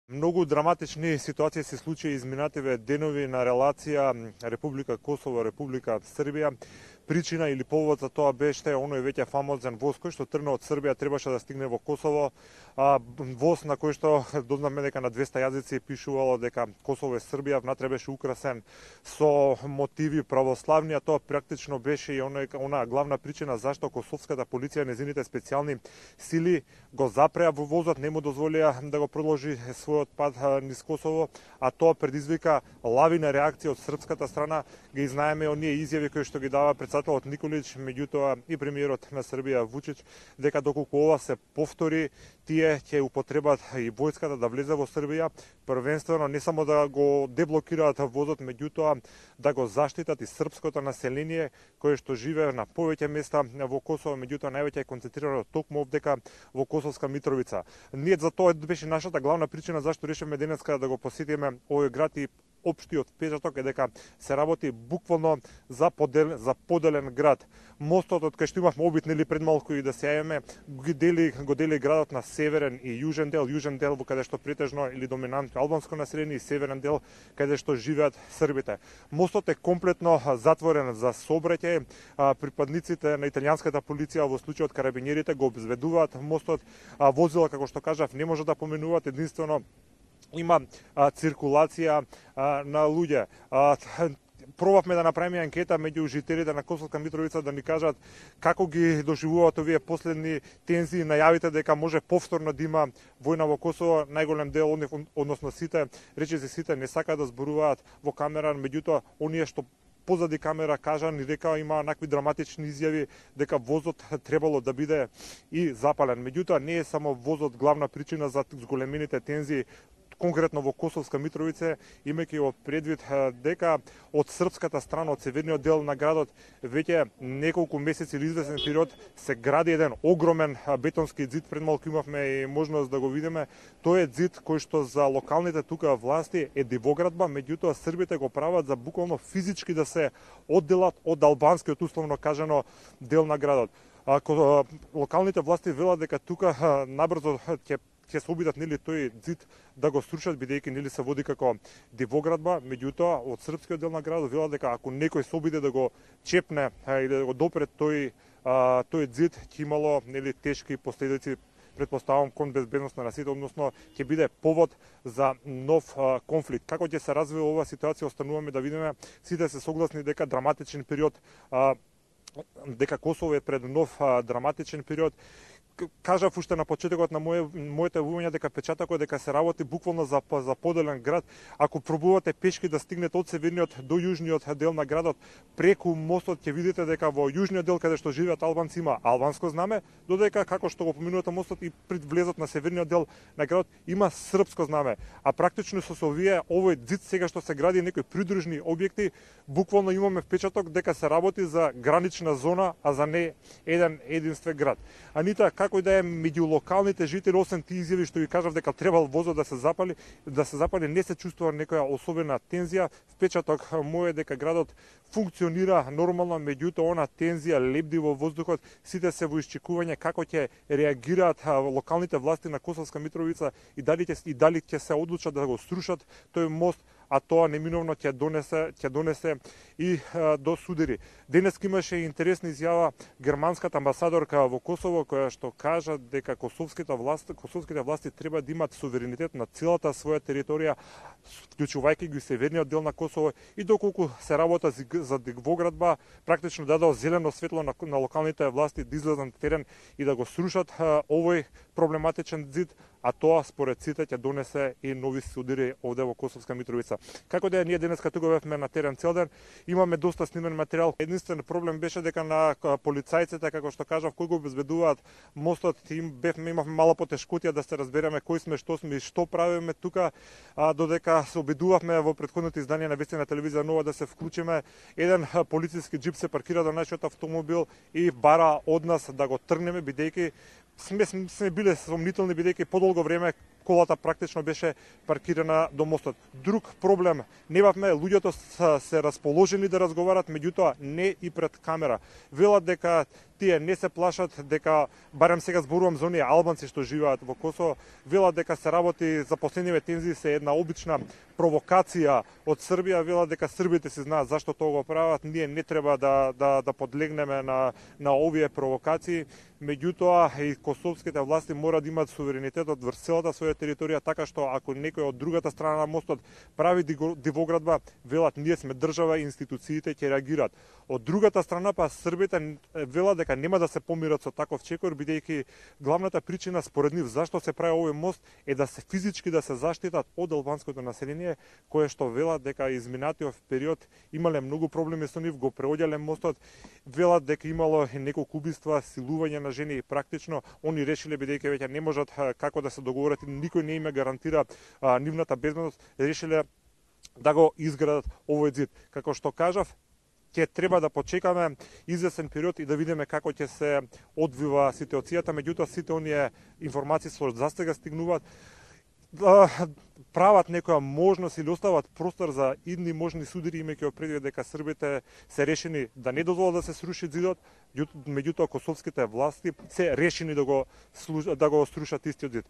Многу драматични ситуации се случи изминативе денови на релација Република Косово, Република Србија. Причина или повод за тоа беше оној веќе фамозен воз кој што тргна од Србија требаше да стигне во Косово. Воз на кој што дознавме дека на 200 јазици пишувало дека Косово е Србија, внатре беше украсен со мотиви православни, а тоа практично беше и она главна причина зашто косовската полиција, незините специјални сили го запреа во возот, не му дозволија да го продолжи својот пат низ Косово, а тоа предизвика лавина реакција од српската страна. Ги знаеме оние изјави кои што ги дава председателот Николич, меѓутоа и премиерот на Србија Вучич, дека доколку ова се повтори, тие ќе употребат и војската да влезе во Србија, првенствено не само да го деблокираат возот, меѓутоа да го заштитат и српското население кое што живее на повеќе места во Косово, меѓутоа највеќе е концентрирано токму овдека во Косовска Митровица. Ние за тоа беше нашата главна причина зашто решивме денеска да го посетиме овој град и општиот впечаток е дека се работи буквално за поделен град. Мостот од кај што имавме обид пред малку и да се јавиме, го дели градот на северен и јужен дел во каде што претежно или доминантно албанско население и северен дел каде што живеат србите. Мостот е комплетно затворен за сообраќај. Припадниците на италијанската полиција во случајот карабинерите го обезбедуваат мостот. Возила, како што кажав, не може да поменуваат, единствено има циркулација на луѓе. Пробавме да направиме анкета меѓу жителите на Косовска Митровица да ни кажат како ги доживуваат овие последни тензии, најавите дека може повторно да има војна во Косово. Најголем дел од нив, односно сите, речиси сите, не сакаат да зборуваат во камера, меѓутоа оние што позади камера кажа ни дека има накви драматични изјави дека возот требало да биде и запален. Меѓутоа не е само возот главна причина за зголемените тензии конкретно во Косовска Митровица, имајќи во предвид дека од српската страна, од северниот дел на градот, веќе неколку месеци или известен период се гради еден огромен бетонски ѕид. Пред малку имавме и можност да го видиме. Тој е ѕид кој што за локалните тука власти е дивоградба, меѓутоа србите го прават за буквално физички да се одделат од албанскиот, условно кажано, дел на градот. Локалните власти велат дека тука набрзо ќе се обидат тој ѕид да го срушат, бидејќи се води како дивоградба, меѓутоа од српскиот дел на градот велат дека ако некој се обиде да го чепне или да го допре тој ձид, ќе имало тешки последици, претпоставам, кон безбедност на сите, односно ќе биде повод за нов конфликт. Како ќе се развива оваа ситуација, остануваме да видиме. Сите се согласни дека драматичен период, дека Косово е пред нов драматичен период. Кажав уште на почетокот на моите јавување дека печатокот дека се работи буквално за поделен град. Ако пробувате пешки да стигнете од северниот до јужниот дел на градот, преку мостот ќе видите дека во јужниот дел каде што живеат албанци има албанско знаме, додека како што го поминувате мостот и пред влезот на северниот дел на градот има српско знаме. А практично со овој ձид сега што се гради некои придружни објекти, буквално имаме впечаток дека се работи за гранична зона, а за не единствен град. Анита, како и да е меѓу локалните жители, освен тие изјави што ви кажав дека требал возот да се запали, не се чувствува некоја особена тензија. Впечаток мој е дека градот функционира нормално, меѓутоа она тензија лебди во воздухот. Сите се во исчекување како ќе реагираат локалните власти на Косовска Митровица и дали ќе се одлучат да го срушат тој мост, а тоа неминовно ќе донесе и до судири. Денес имаше интересна изјава германската амбасадорка во Косово, која што кажа дека косовските власти треба да имат суверенитет на целата своја територија, вклучувајќи го и северниот дел на Косово, и доколку се работа за дивоградба, практично дадо зелено светло на локалните власти да излезат на терен и да го срушат овој проблематичен ѕид, а тоа според сите ќе донесе и нови судири овде во Косовска Митровица. Како да е, ние денеска тука бевме на терен цел ден, имаме доста снимен материјал. Единствен проблем беше дека на полицајците, како што кажав, кои го обезбедуваат мостот, имавме мала потешкотија да се разбереме кои сме, што сме и што правиме тука, додека се обидувавме во претходното издание на вести на телевизија Нова да се вклучиме. Еден полициски џип се паркира до нашиот автомобил и бара од нас да го тргнеме, бидејќи сме биле сомнителни, бидејќи подолго време колата практично беше паркирана до мостот. Друг проблем, немавме, луѓето се расположени да разговарат, меѓутоа не и пред камера. Велат дека тие не се плашат дека, барем сега зборувам за оние албанци што живеат во Косово, велат дека се работи за последниве тензии се една обична провокација од Србија, велат дека србите се знаат зашто тоа го прават, ние не треба да подлегнеме на овие провокации. Меѓутоа и косовските власти мора да имаат суверенитетот врз целата своја територија, така што ако некој од другата страна на мостот прави дивоградба, велат ние сме држава и институциите ќе реагираат. Од другата страна па србите велат дека нема да се помират со таков чекор, бидејќи главната причина според нив зашто се прави овој мост е да се физички да се заштитат од албанското население, кое што велат дека изминатиот период имале многу проблеми со нив, го преоѓале мостот, велат дека имало неколку убиства, силување на жени и практично они решиле, бидејќи веќе не можат како да се договорат и никој не им гарантира нивната безбедност, решиле да го изградат овој зид. Како што кажав, ќе треба да почекаме извесен период и да видиме како ќе се одвива ситуацијата, меѓутоа сите оние информации што застега стигнуваат прават некоја можност или остават простор за идни можни судири, имајќи предвид дека србите се решени да не дозволат да се сруши зидот, меѓутоа косовските власти се решени да го срушат истиот зид.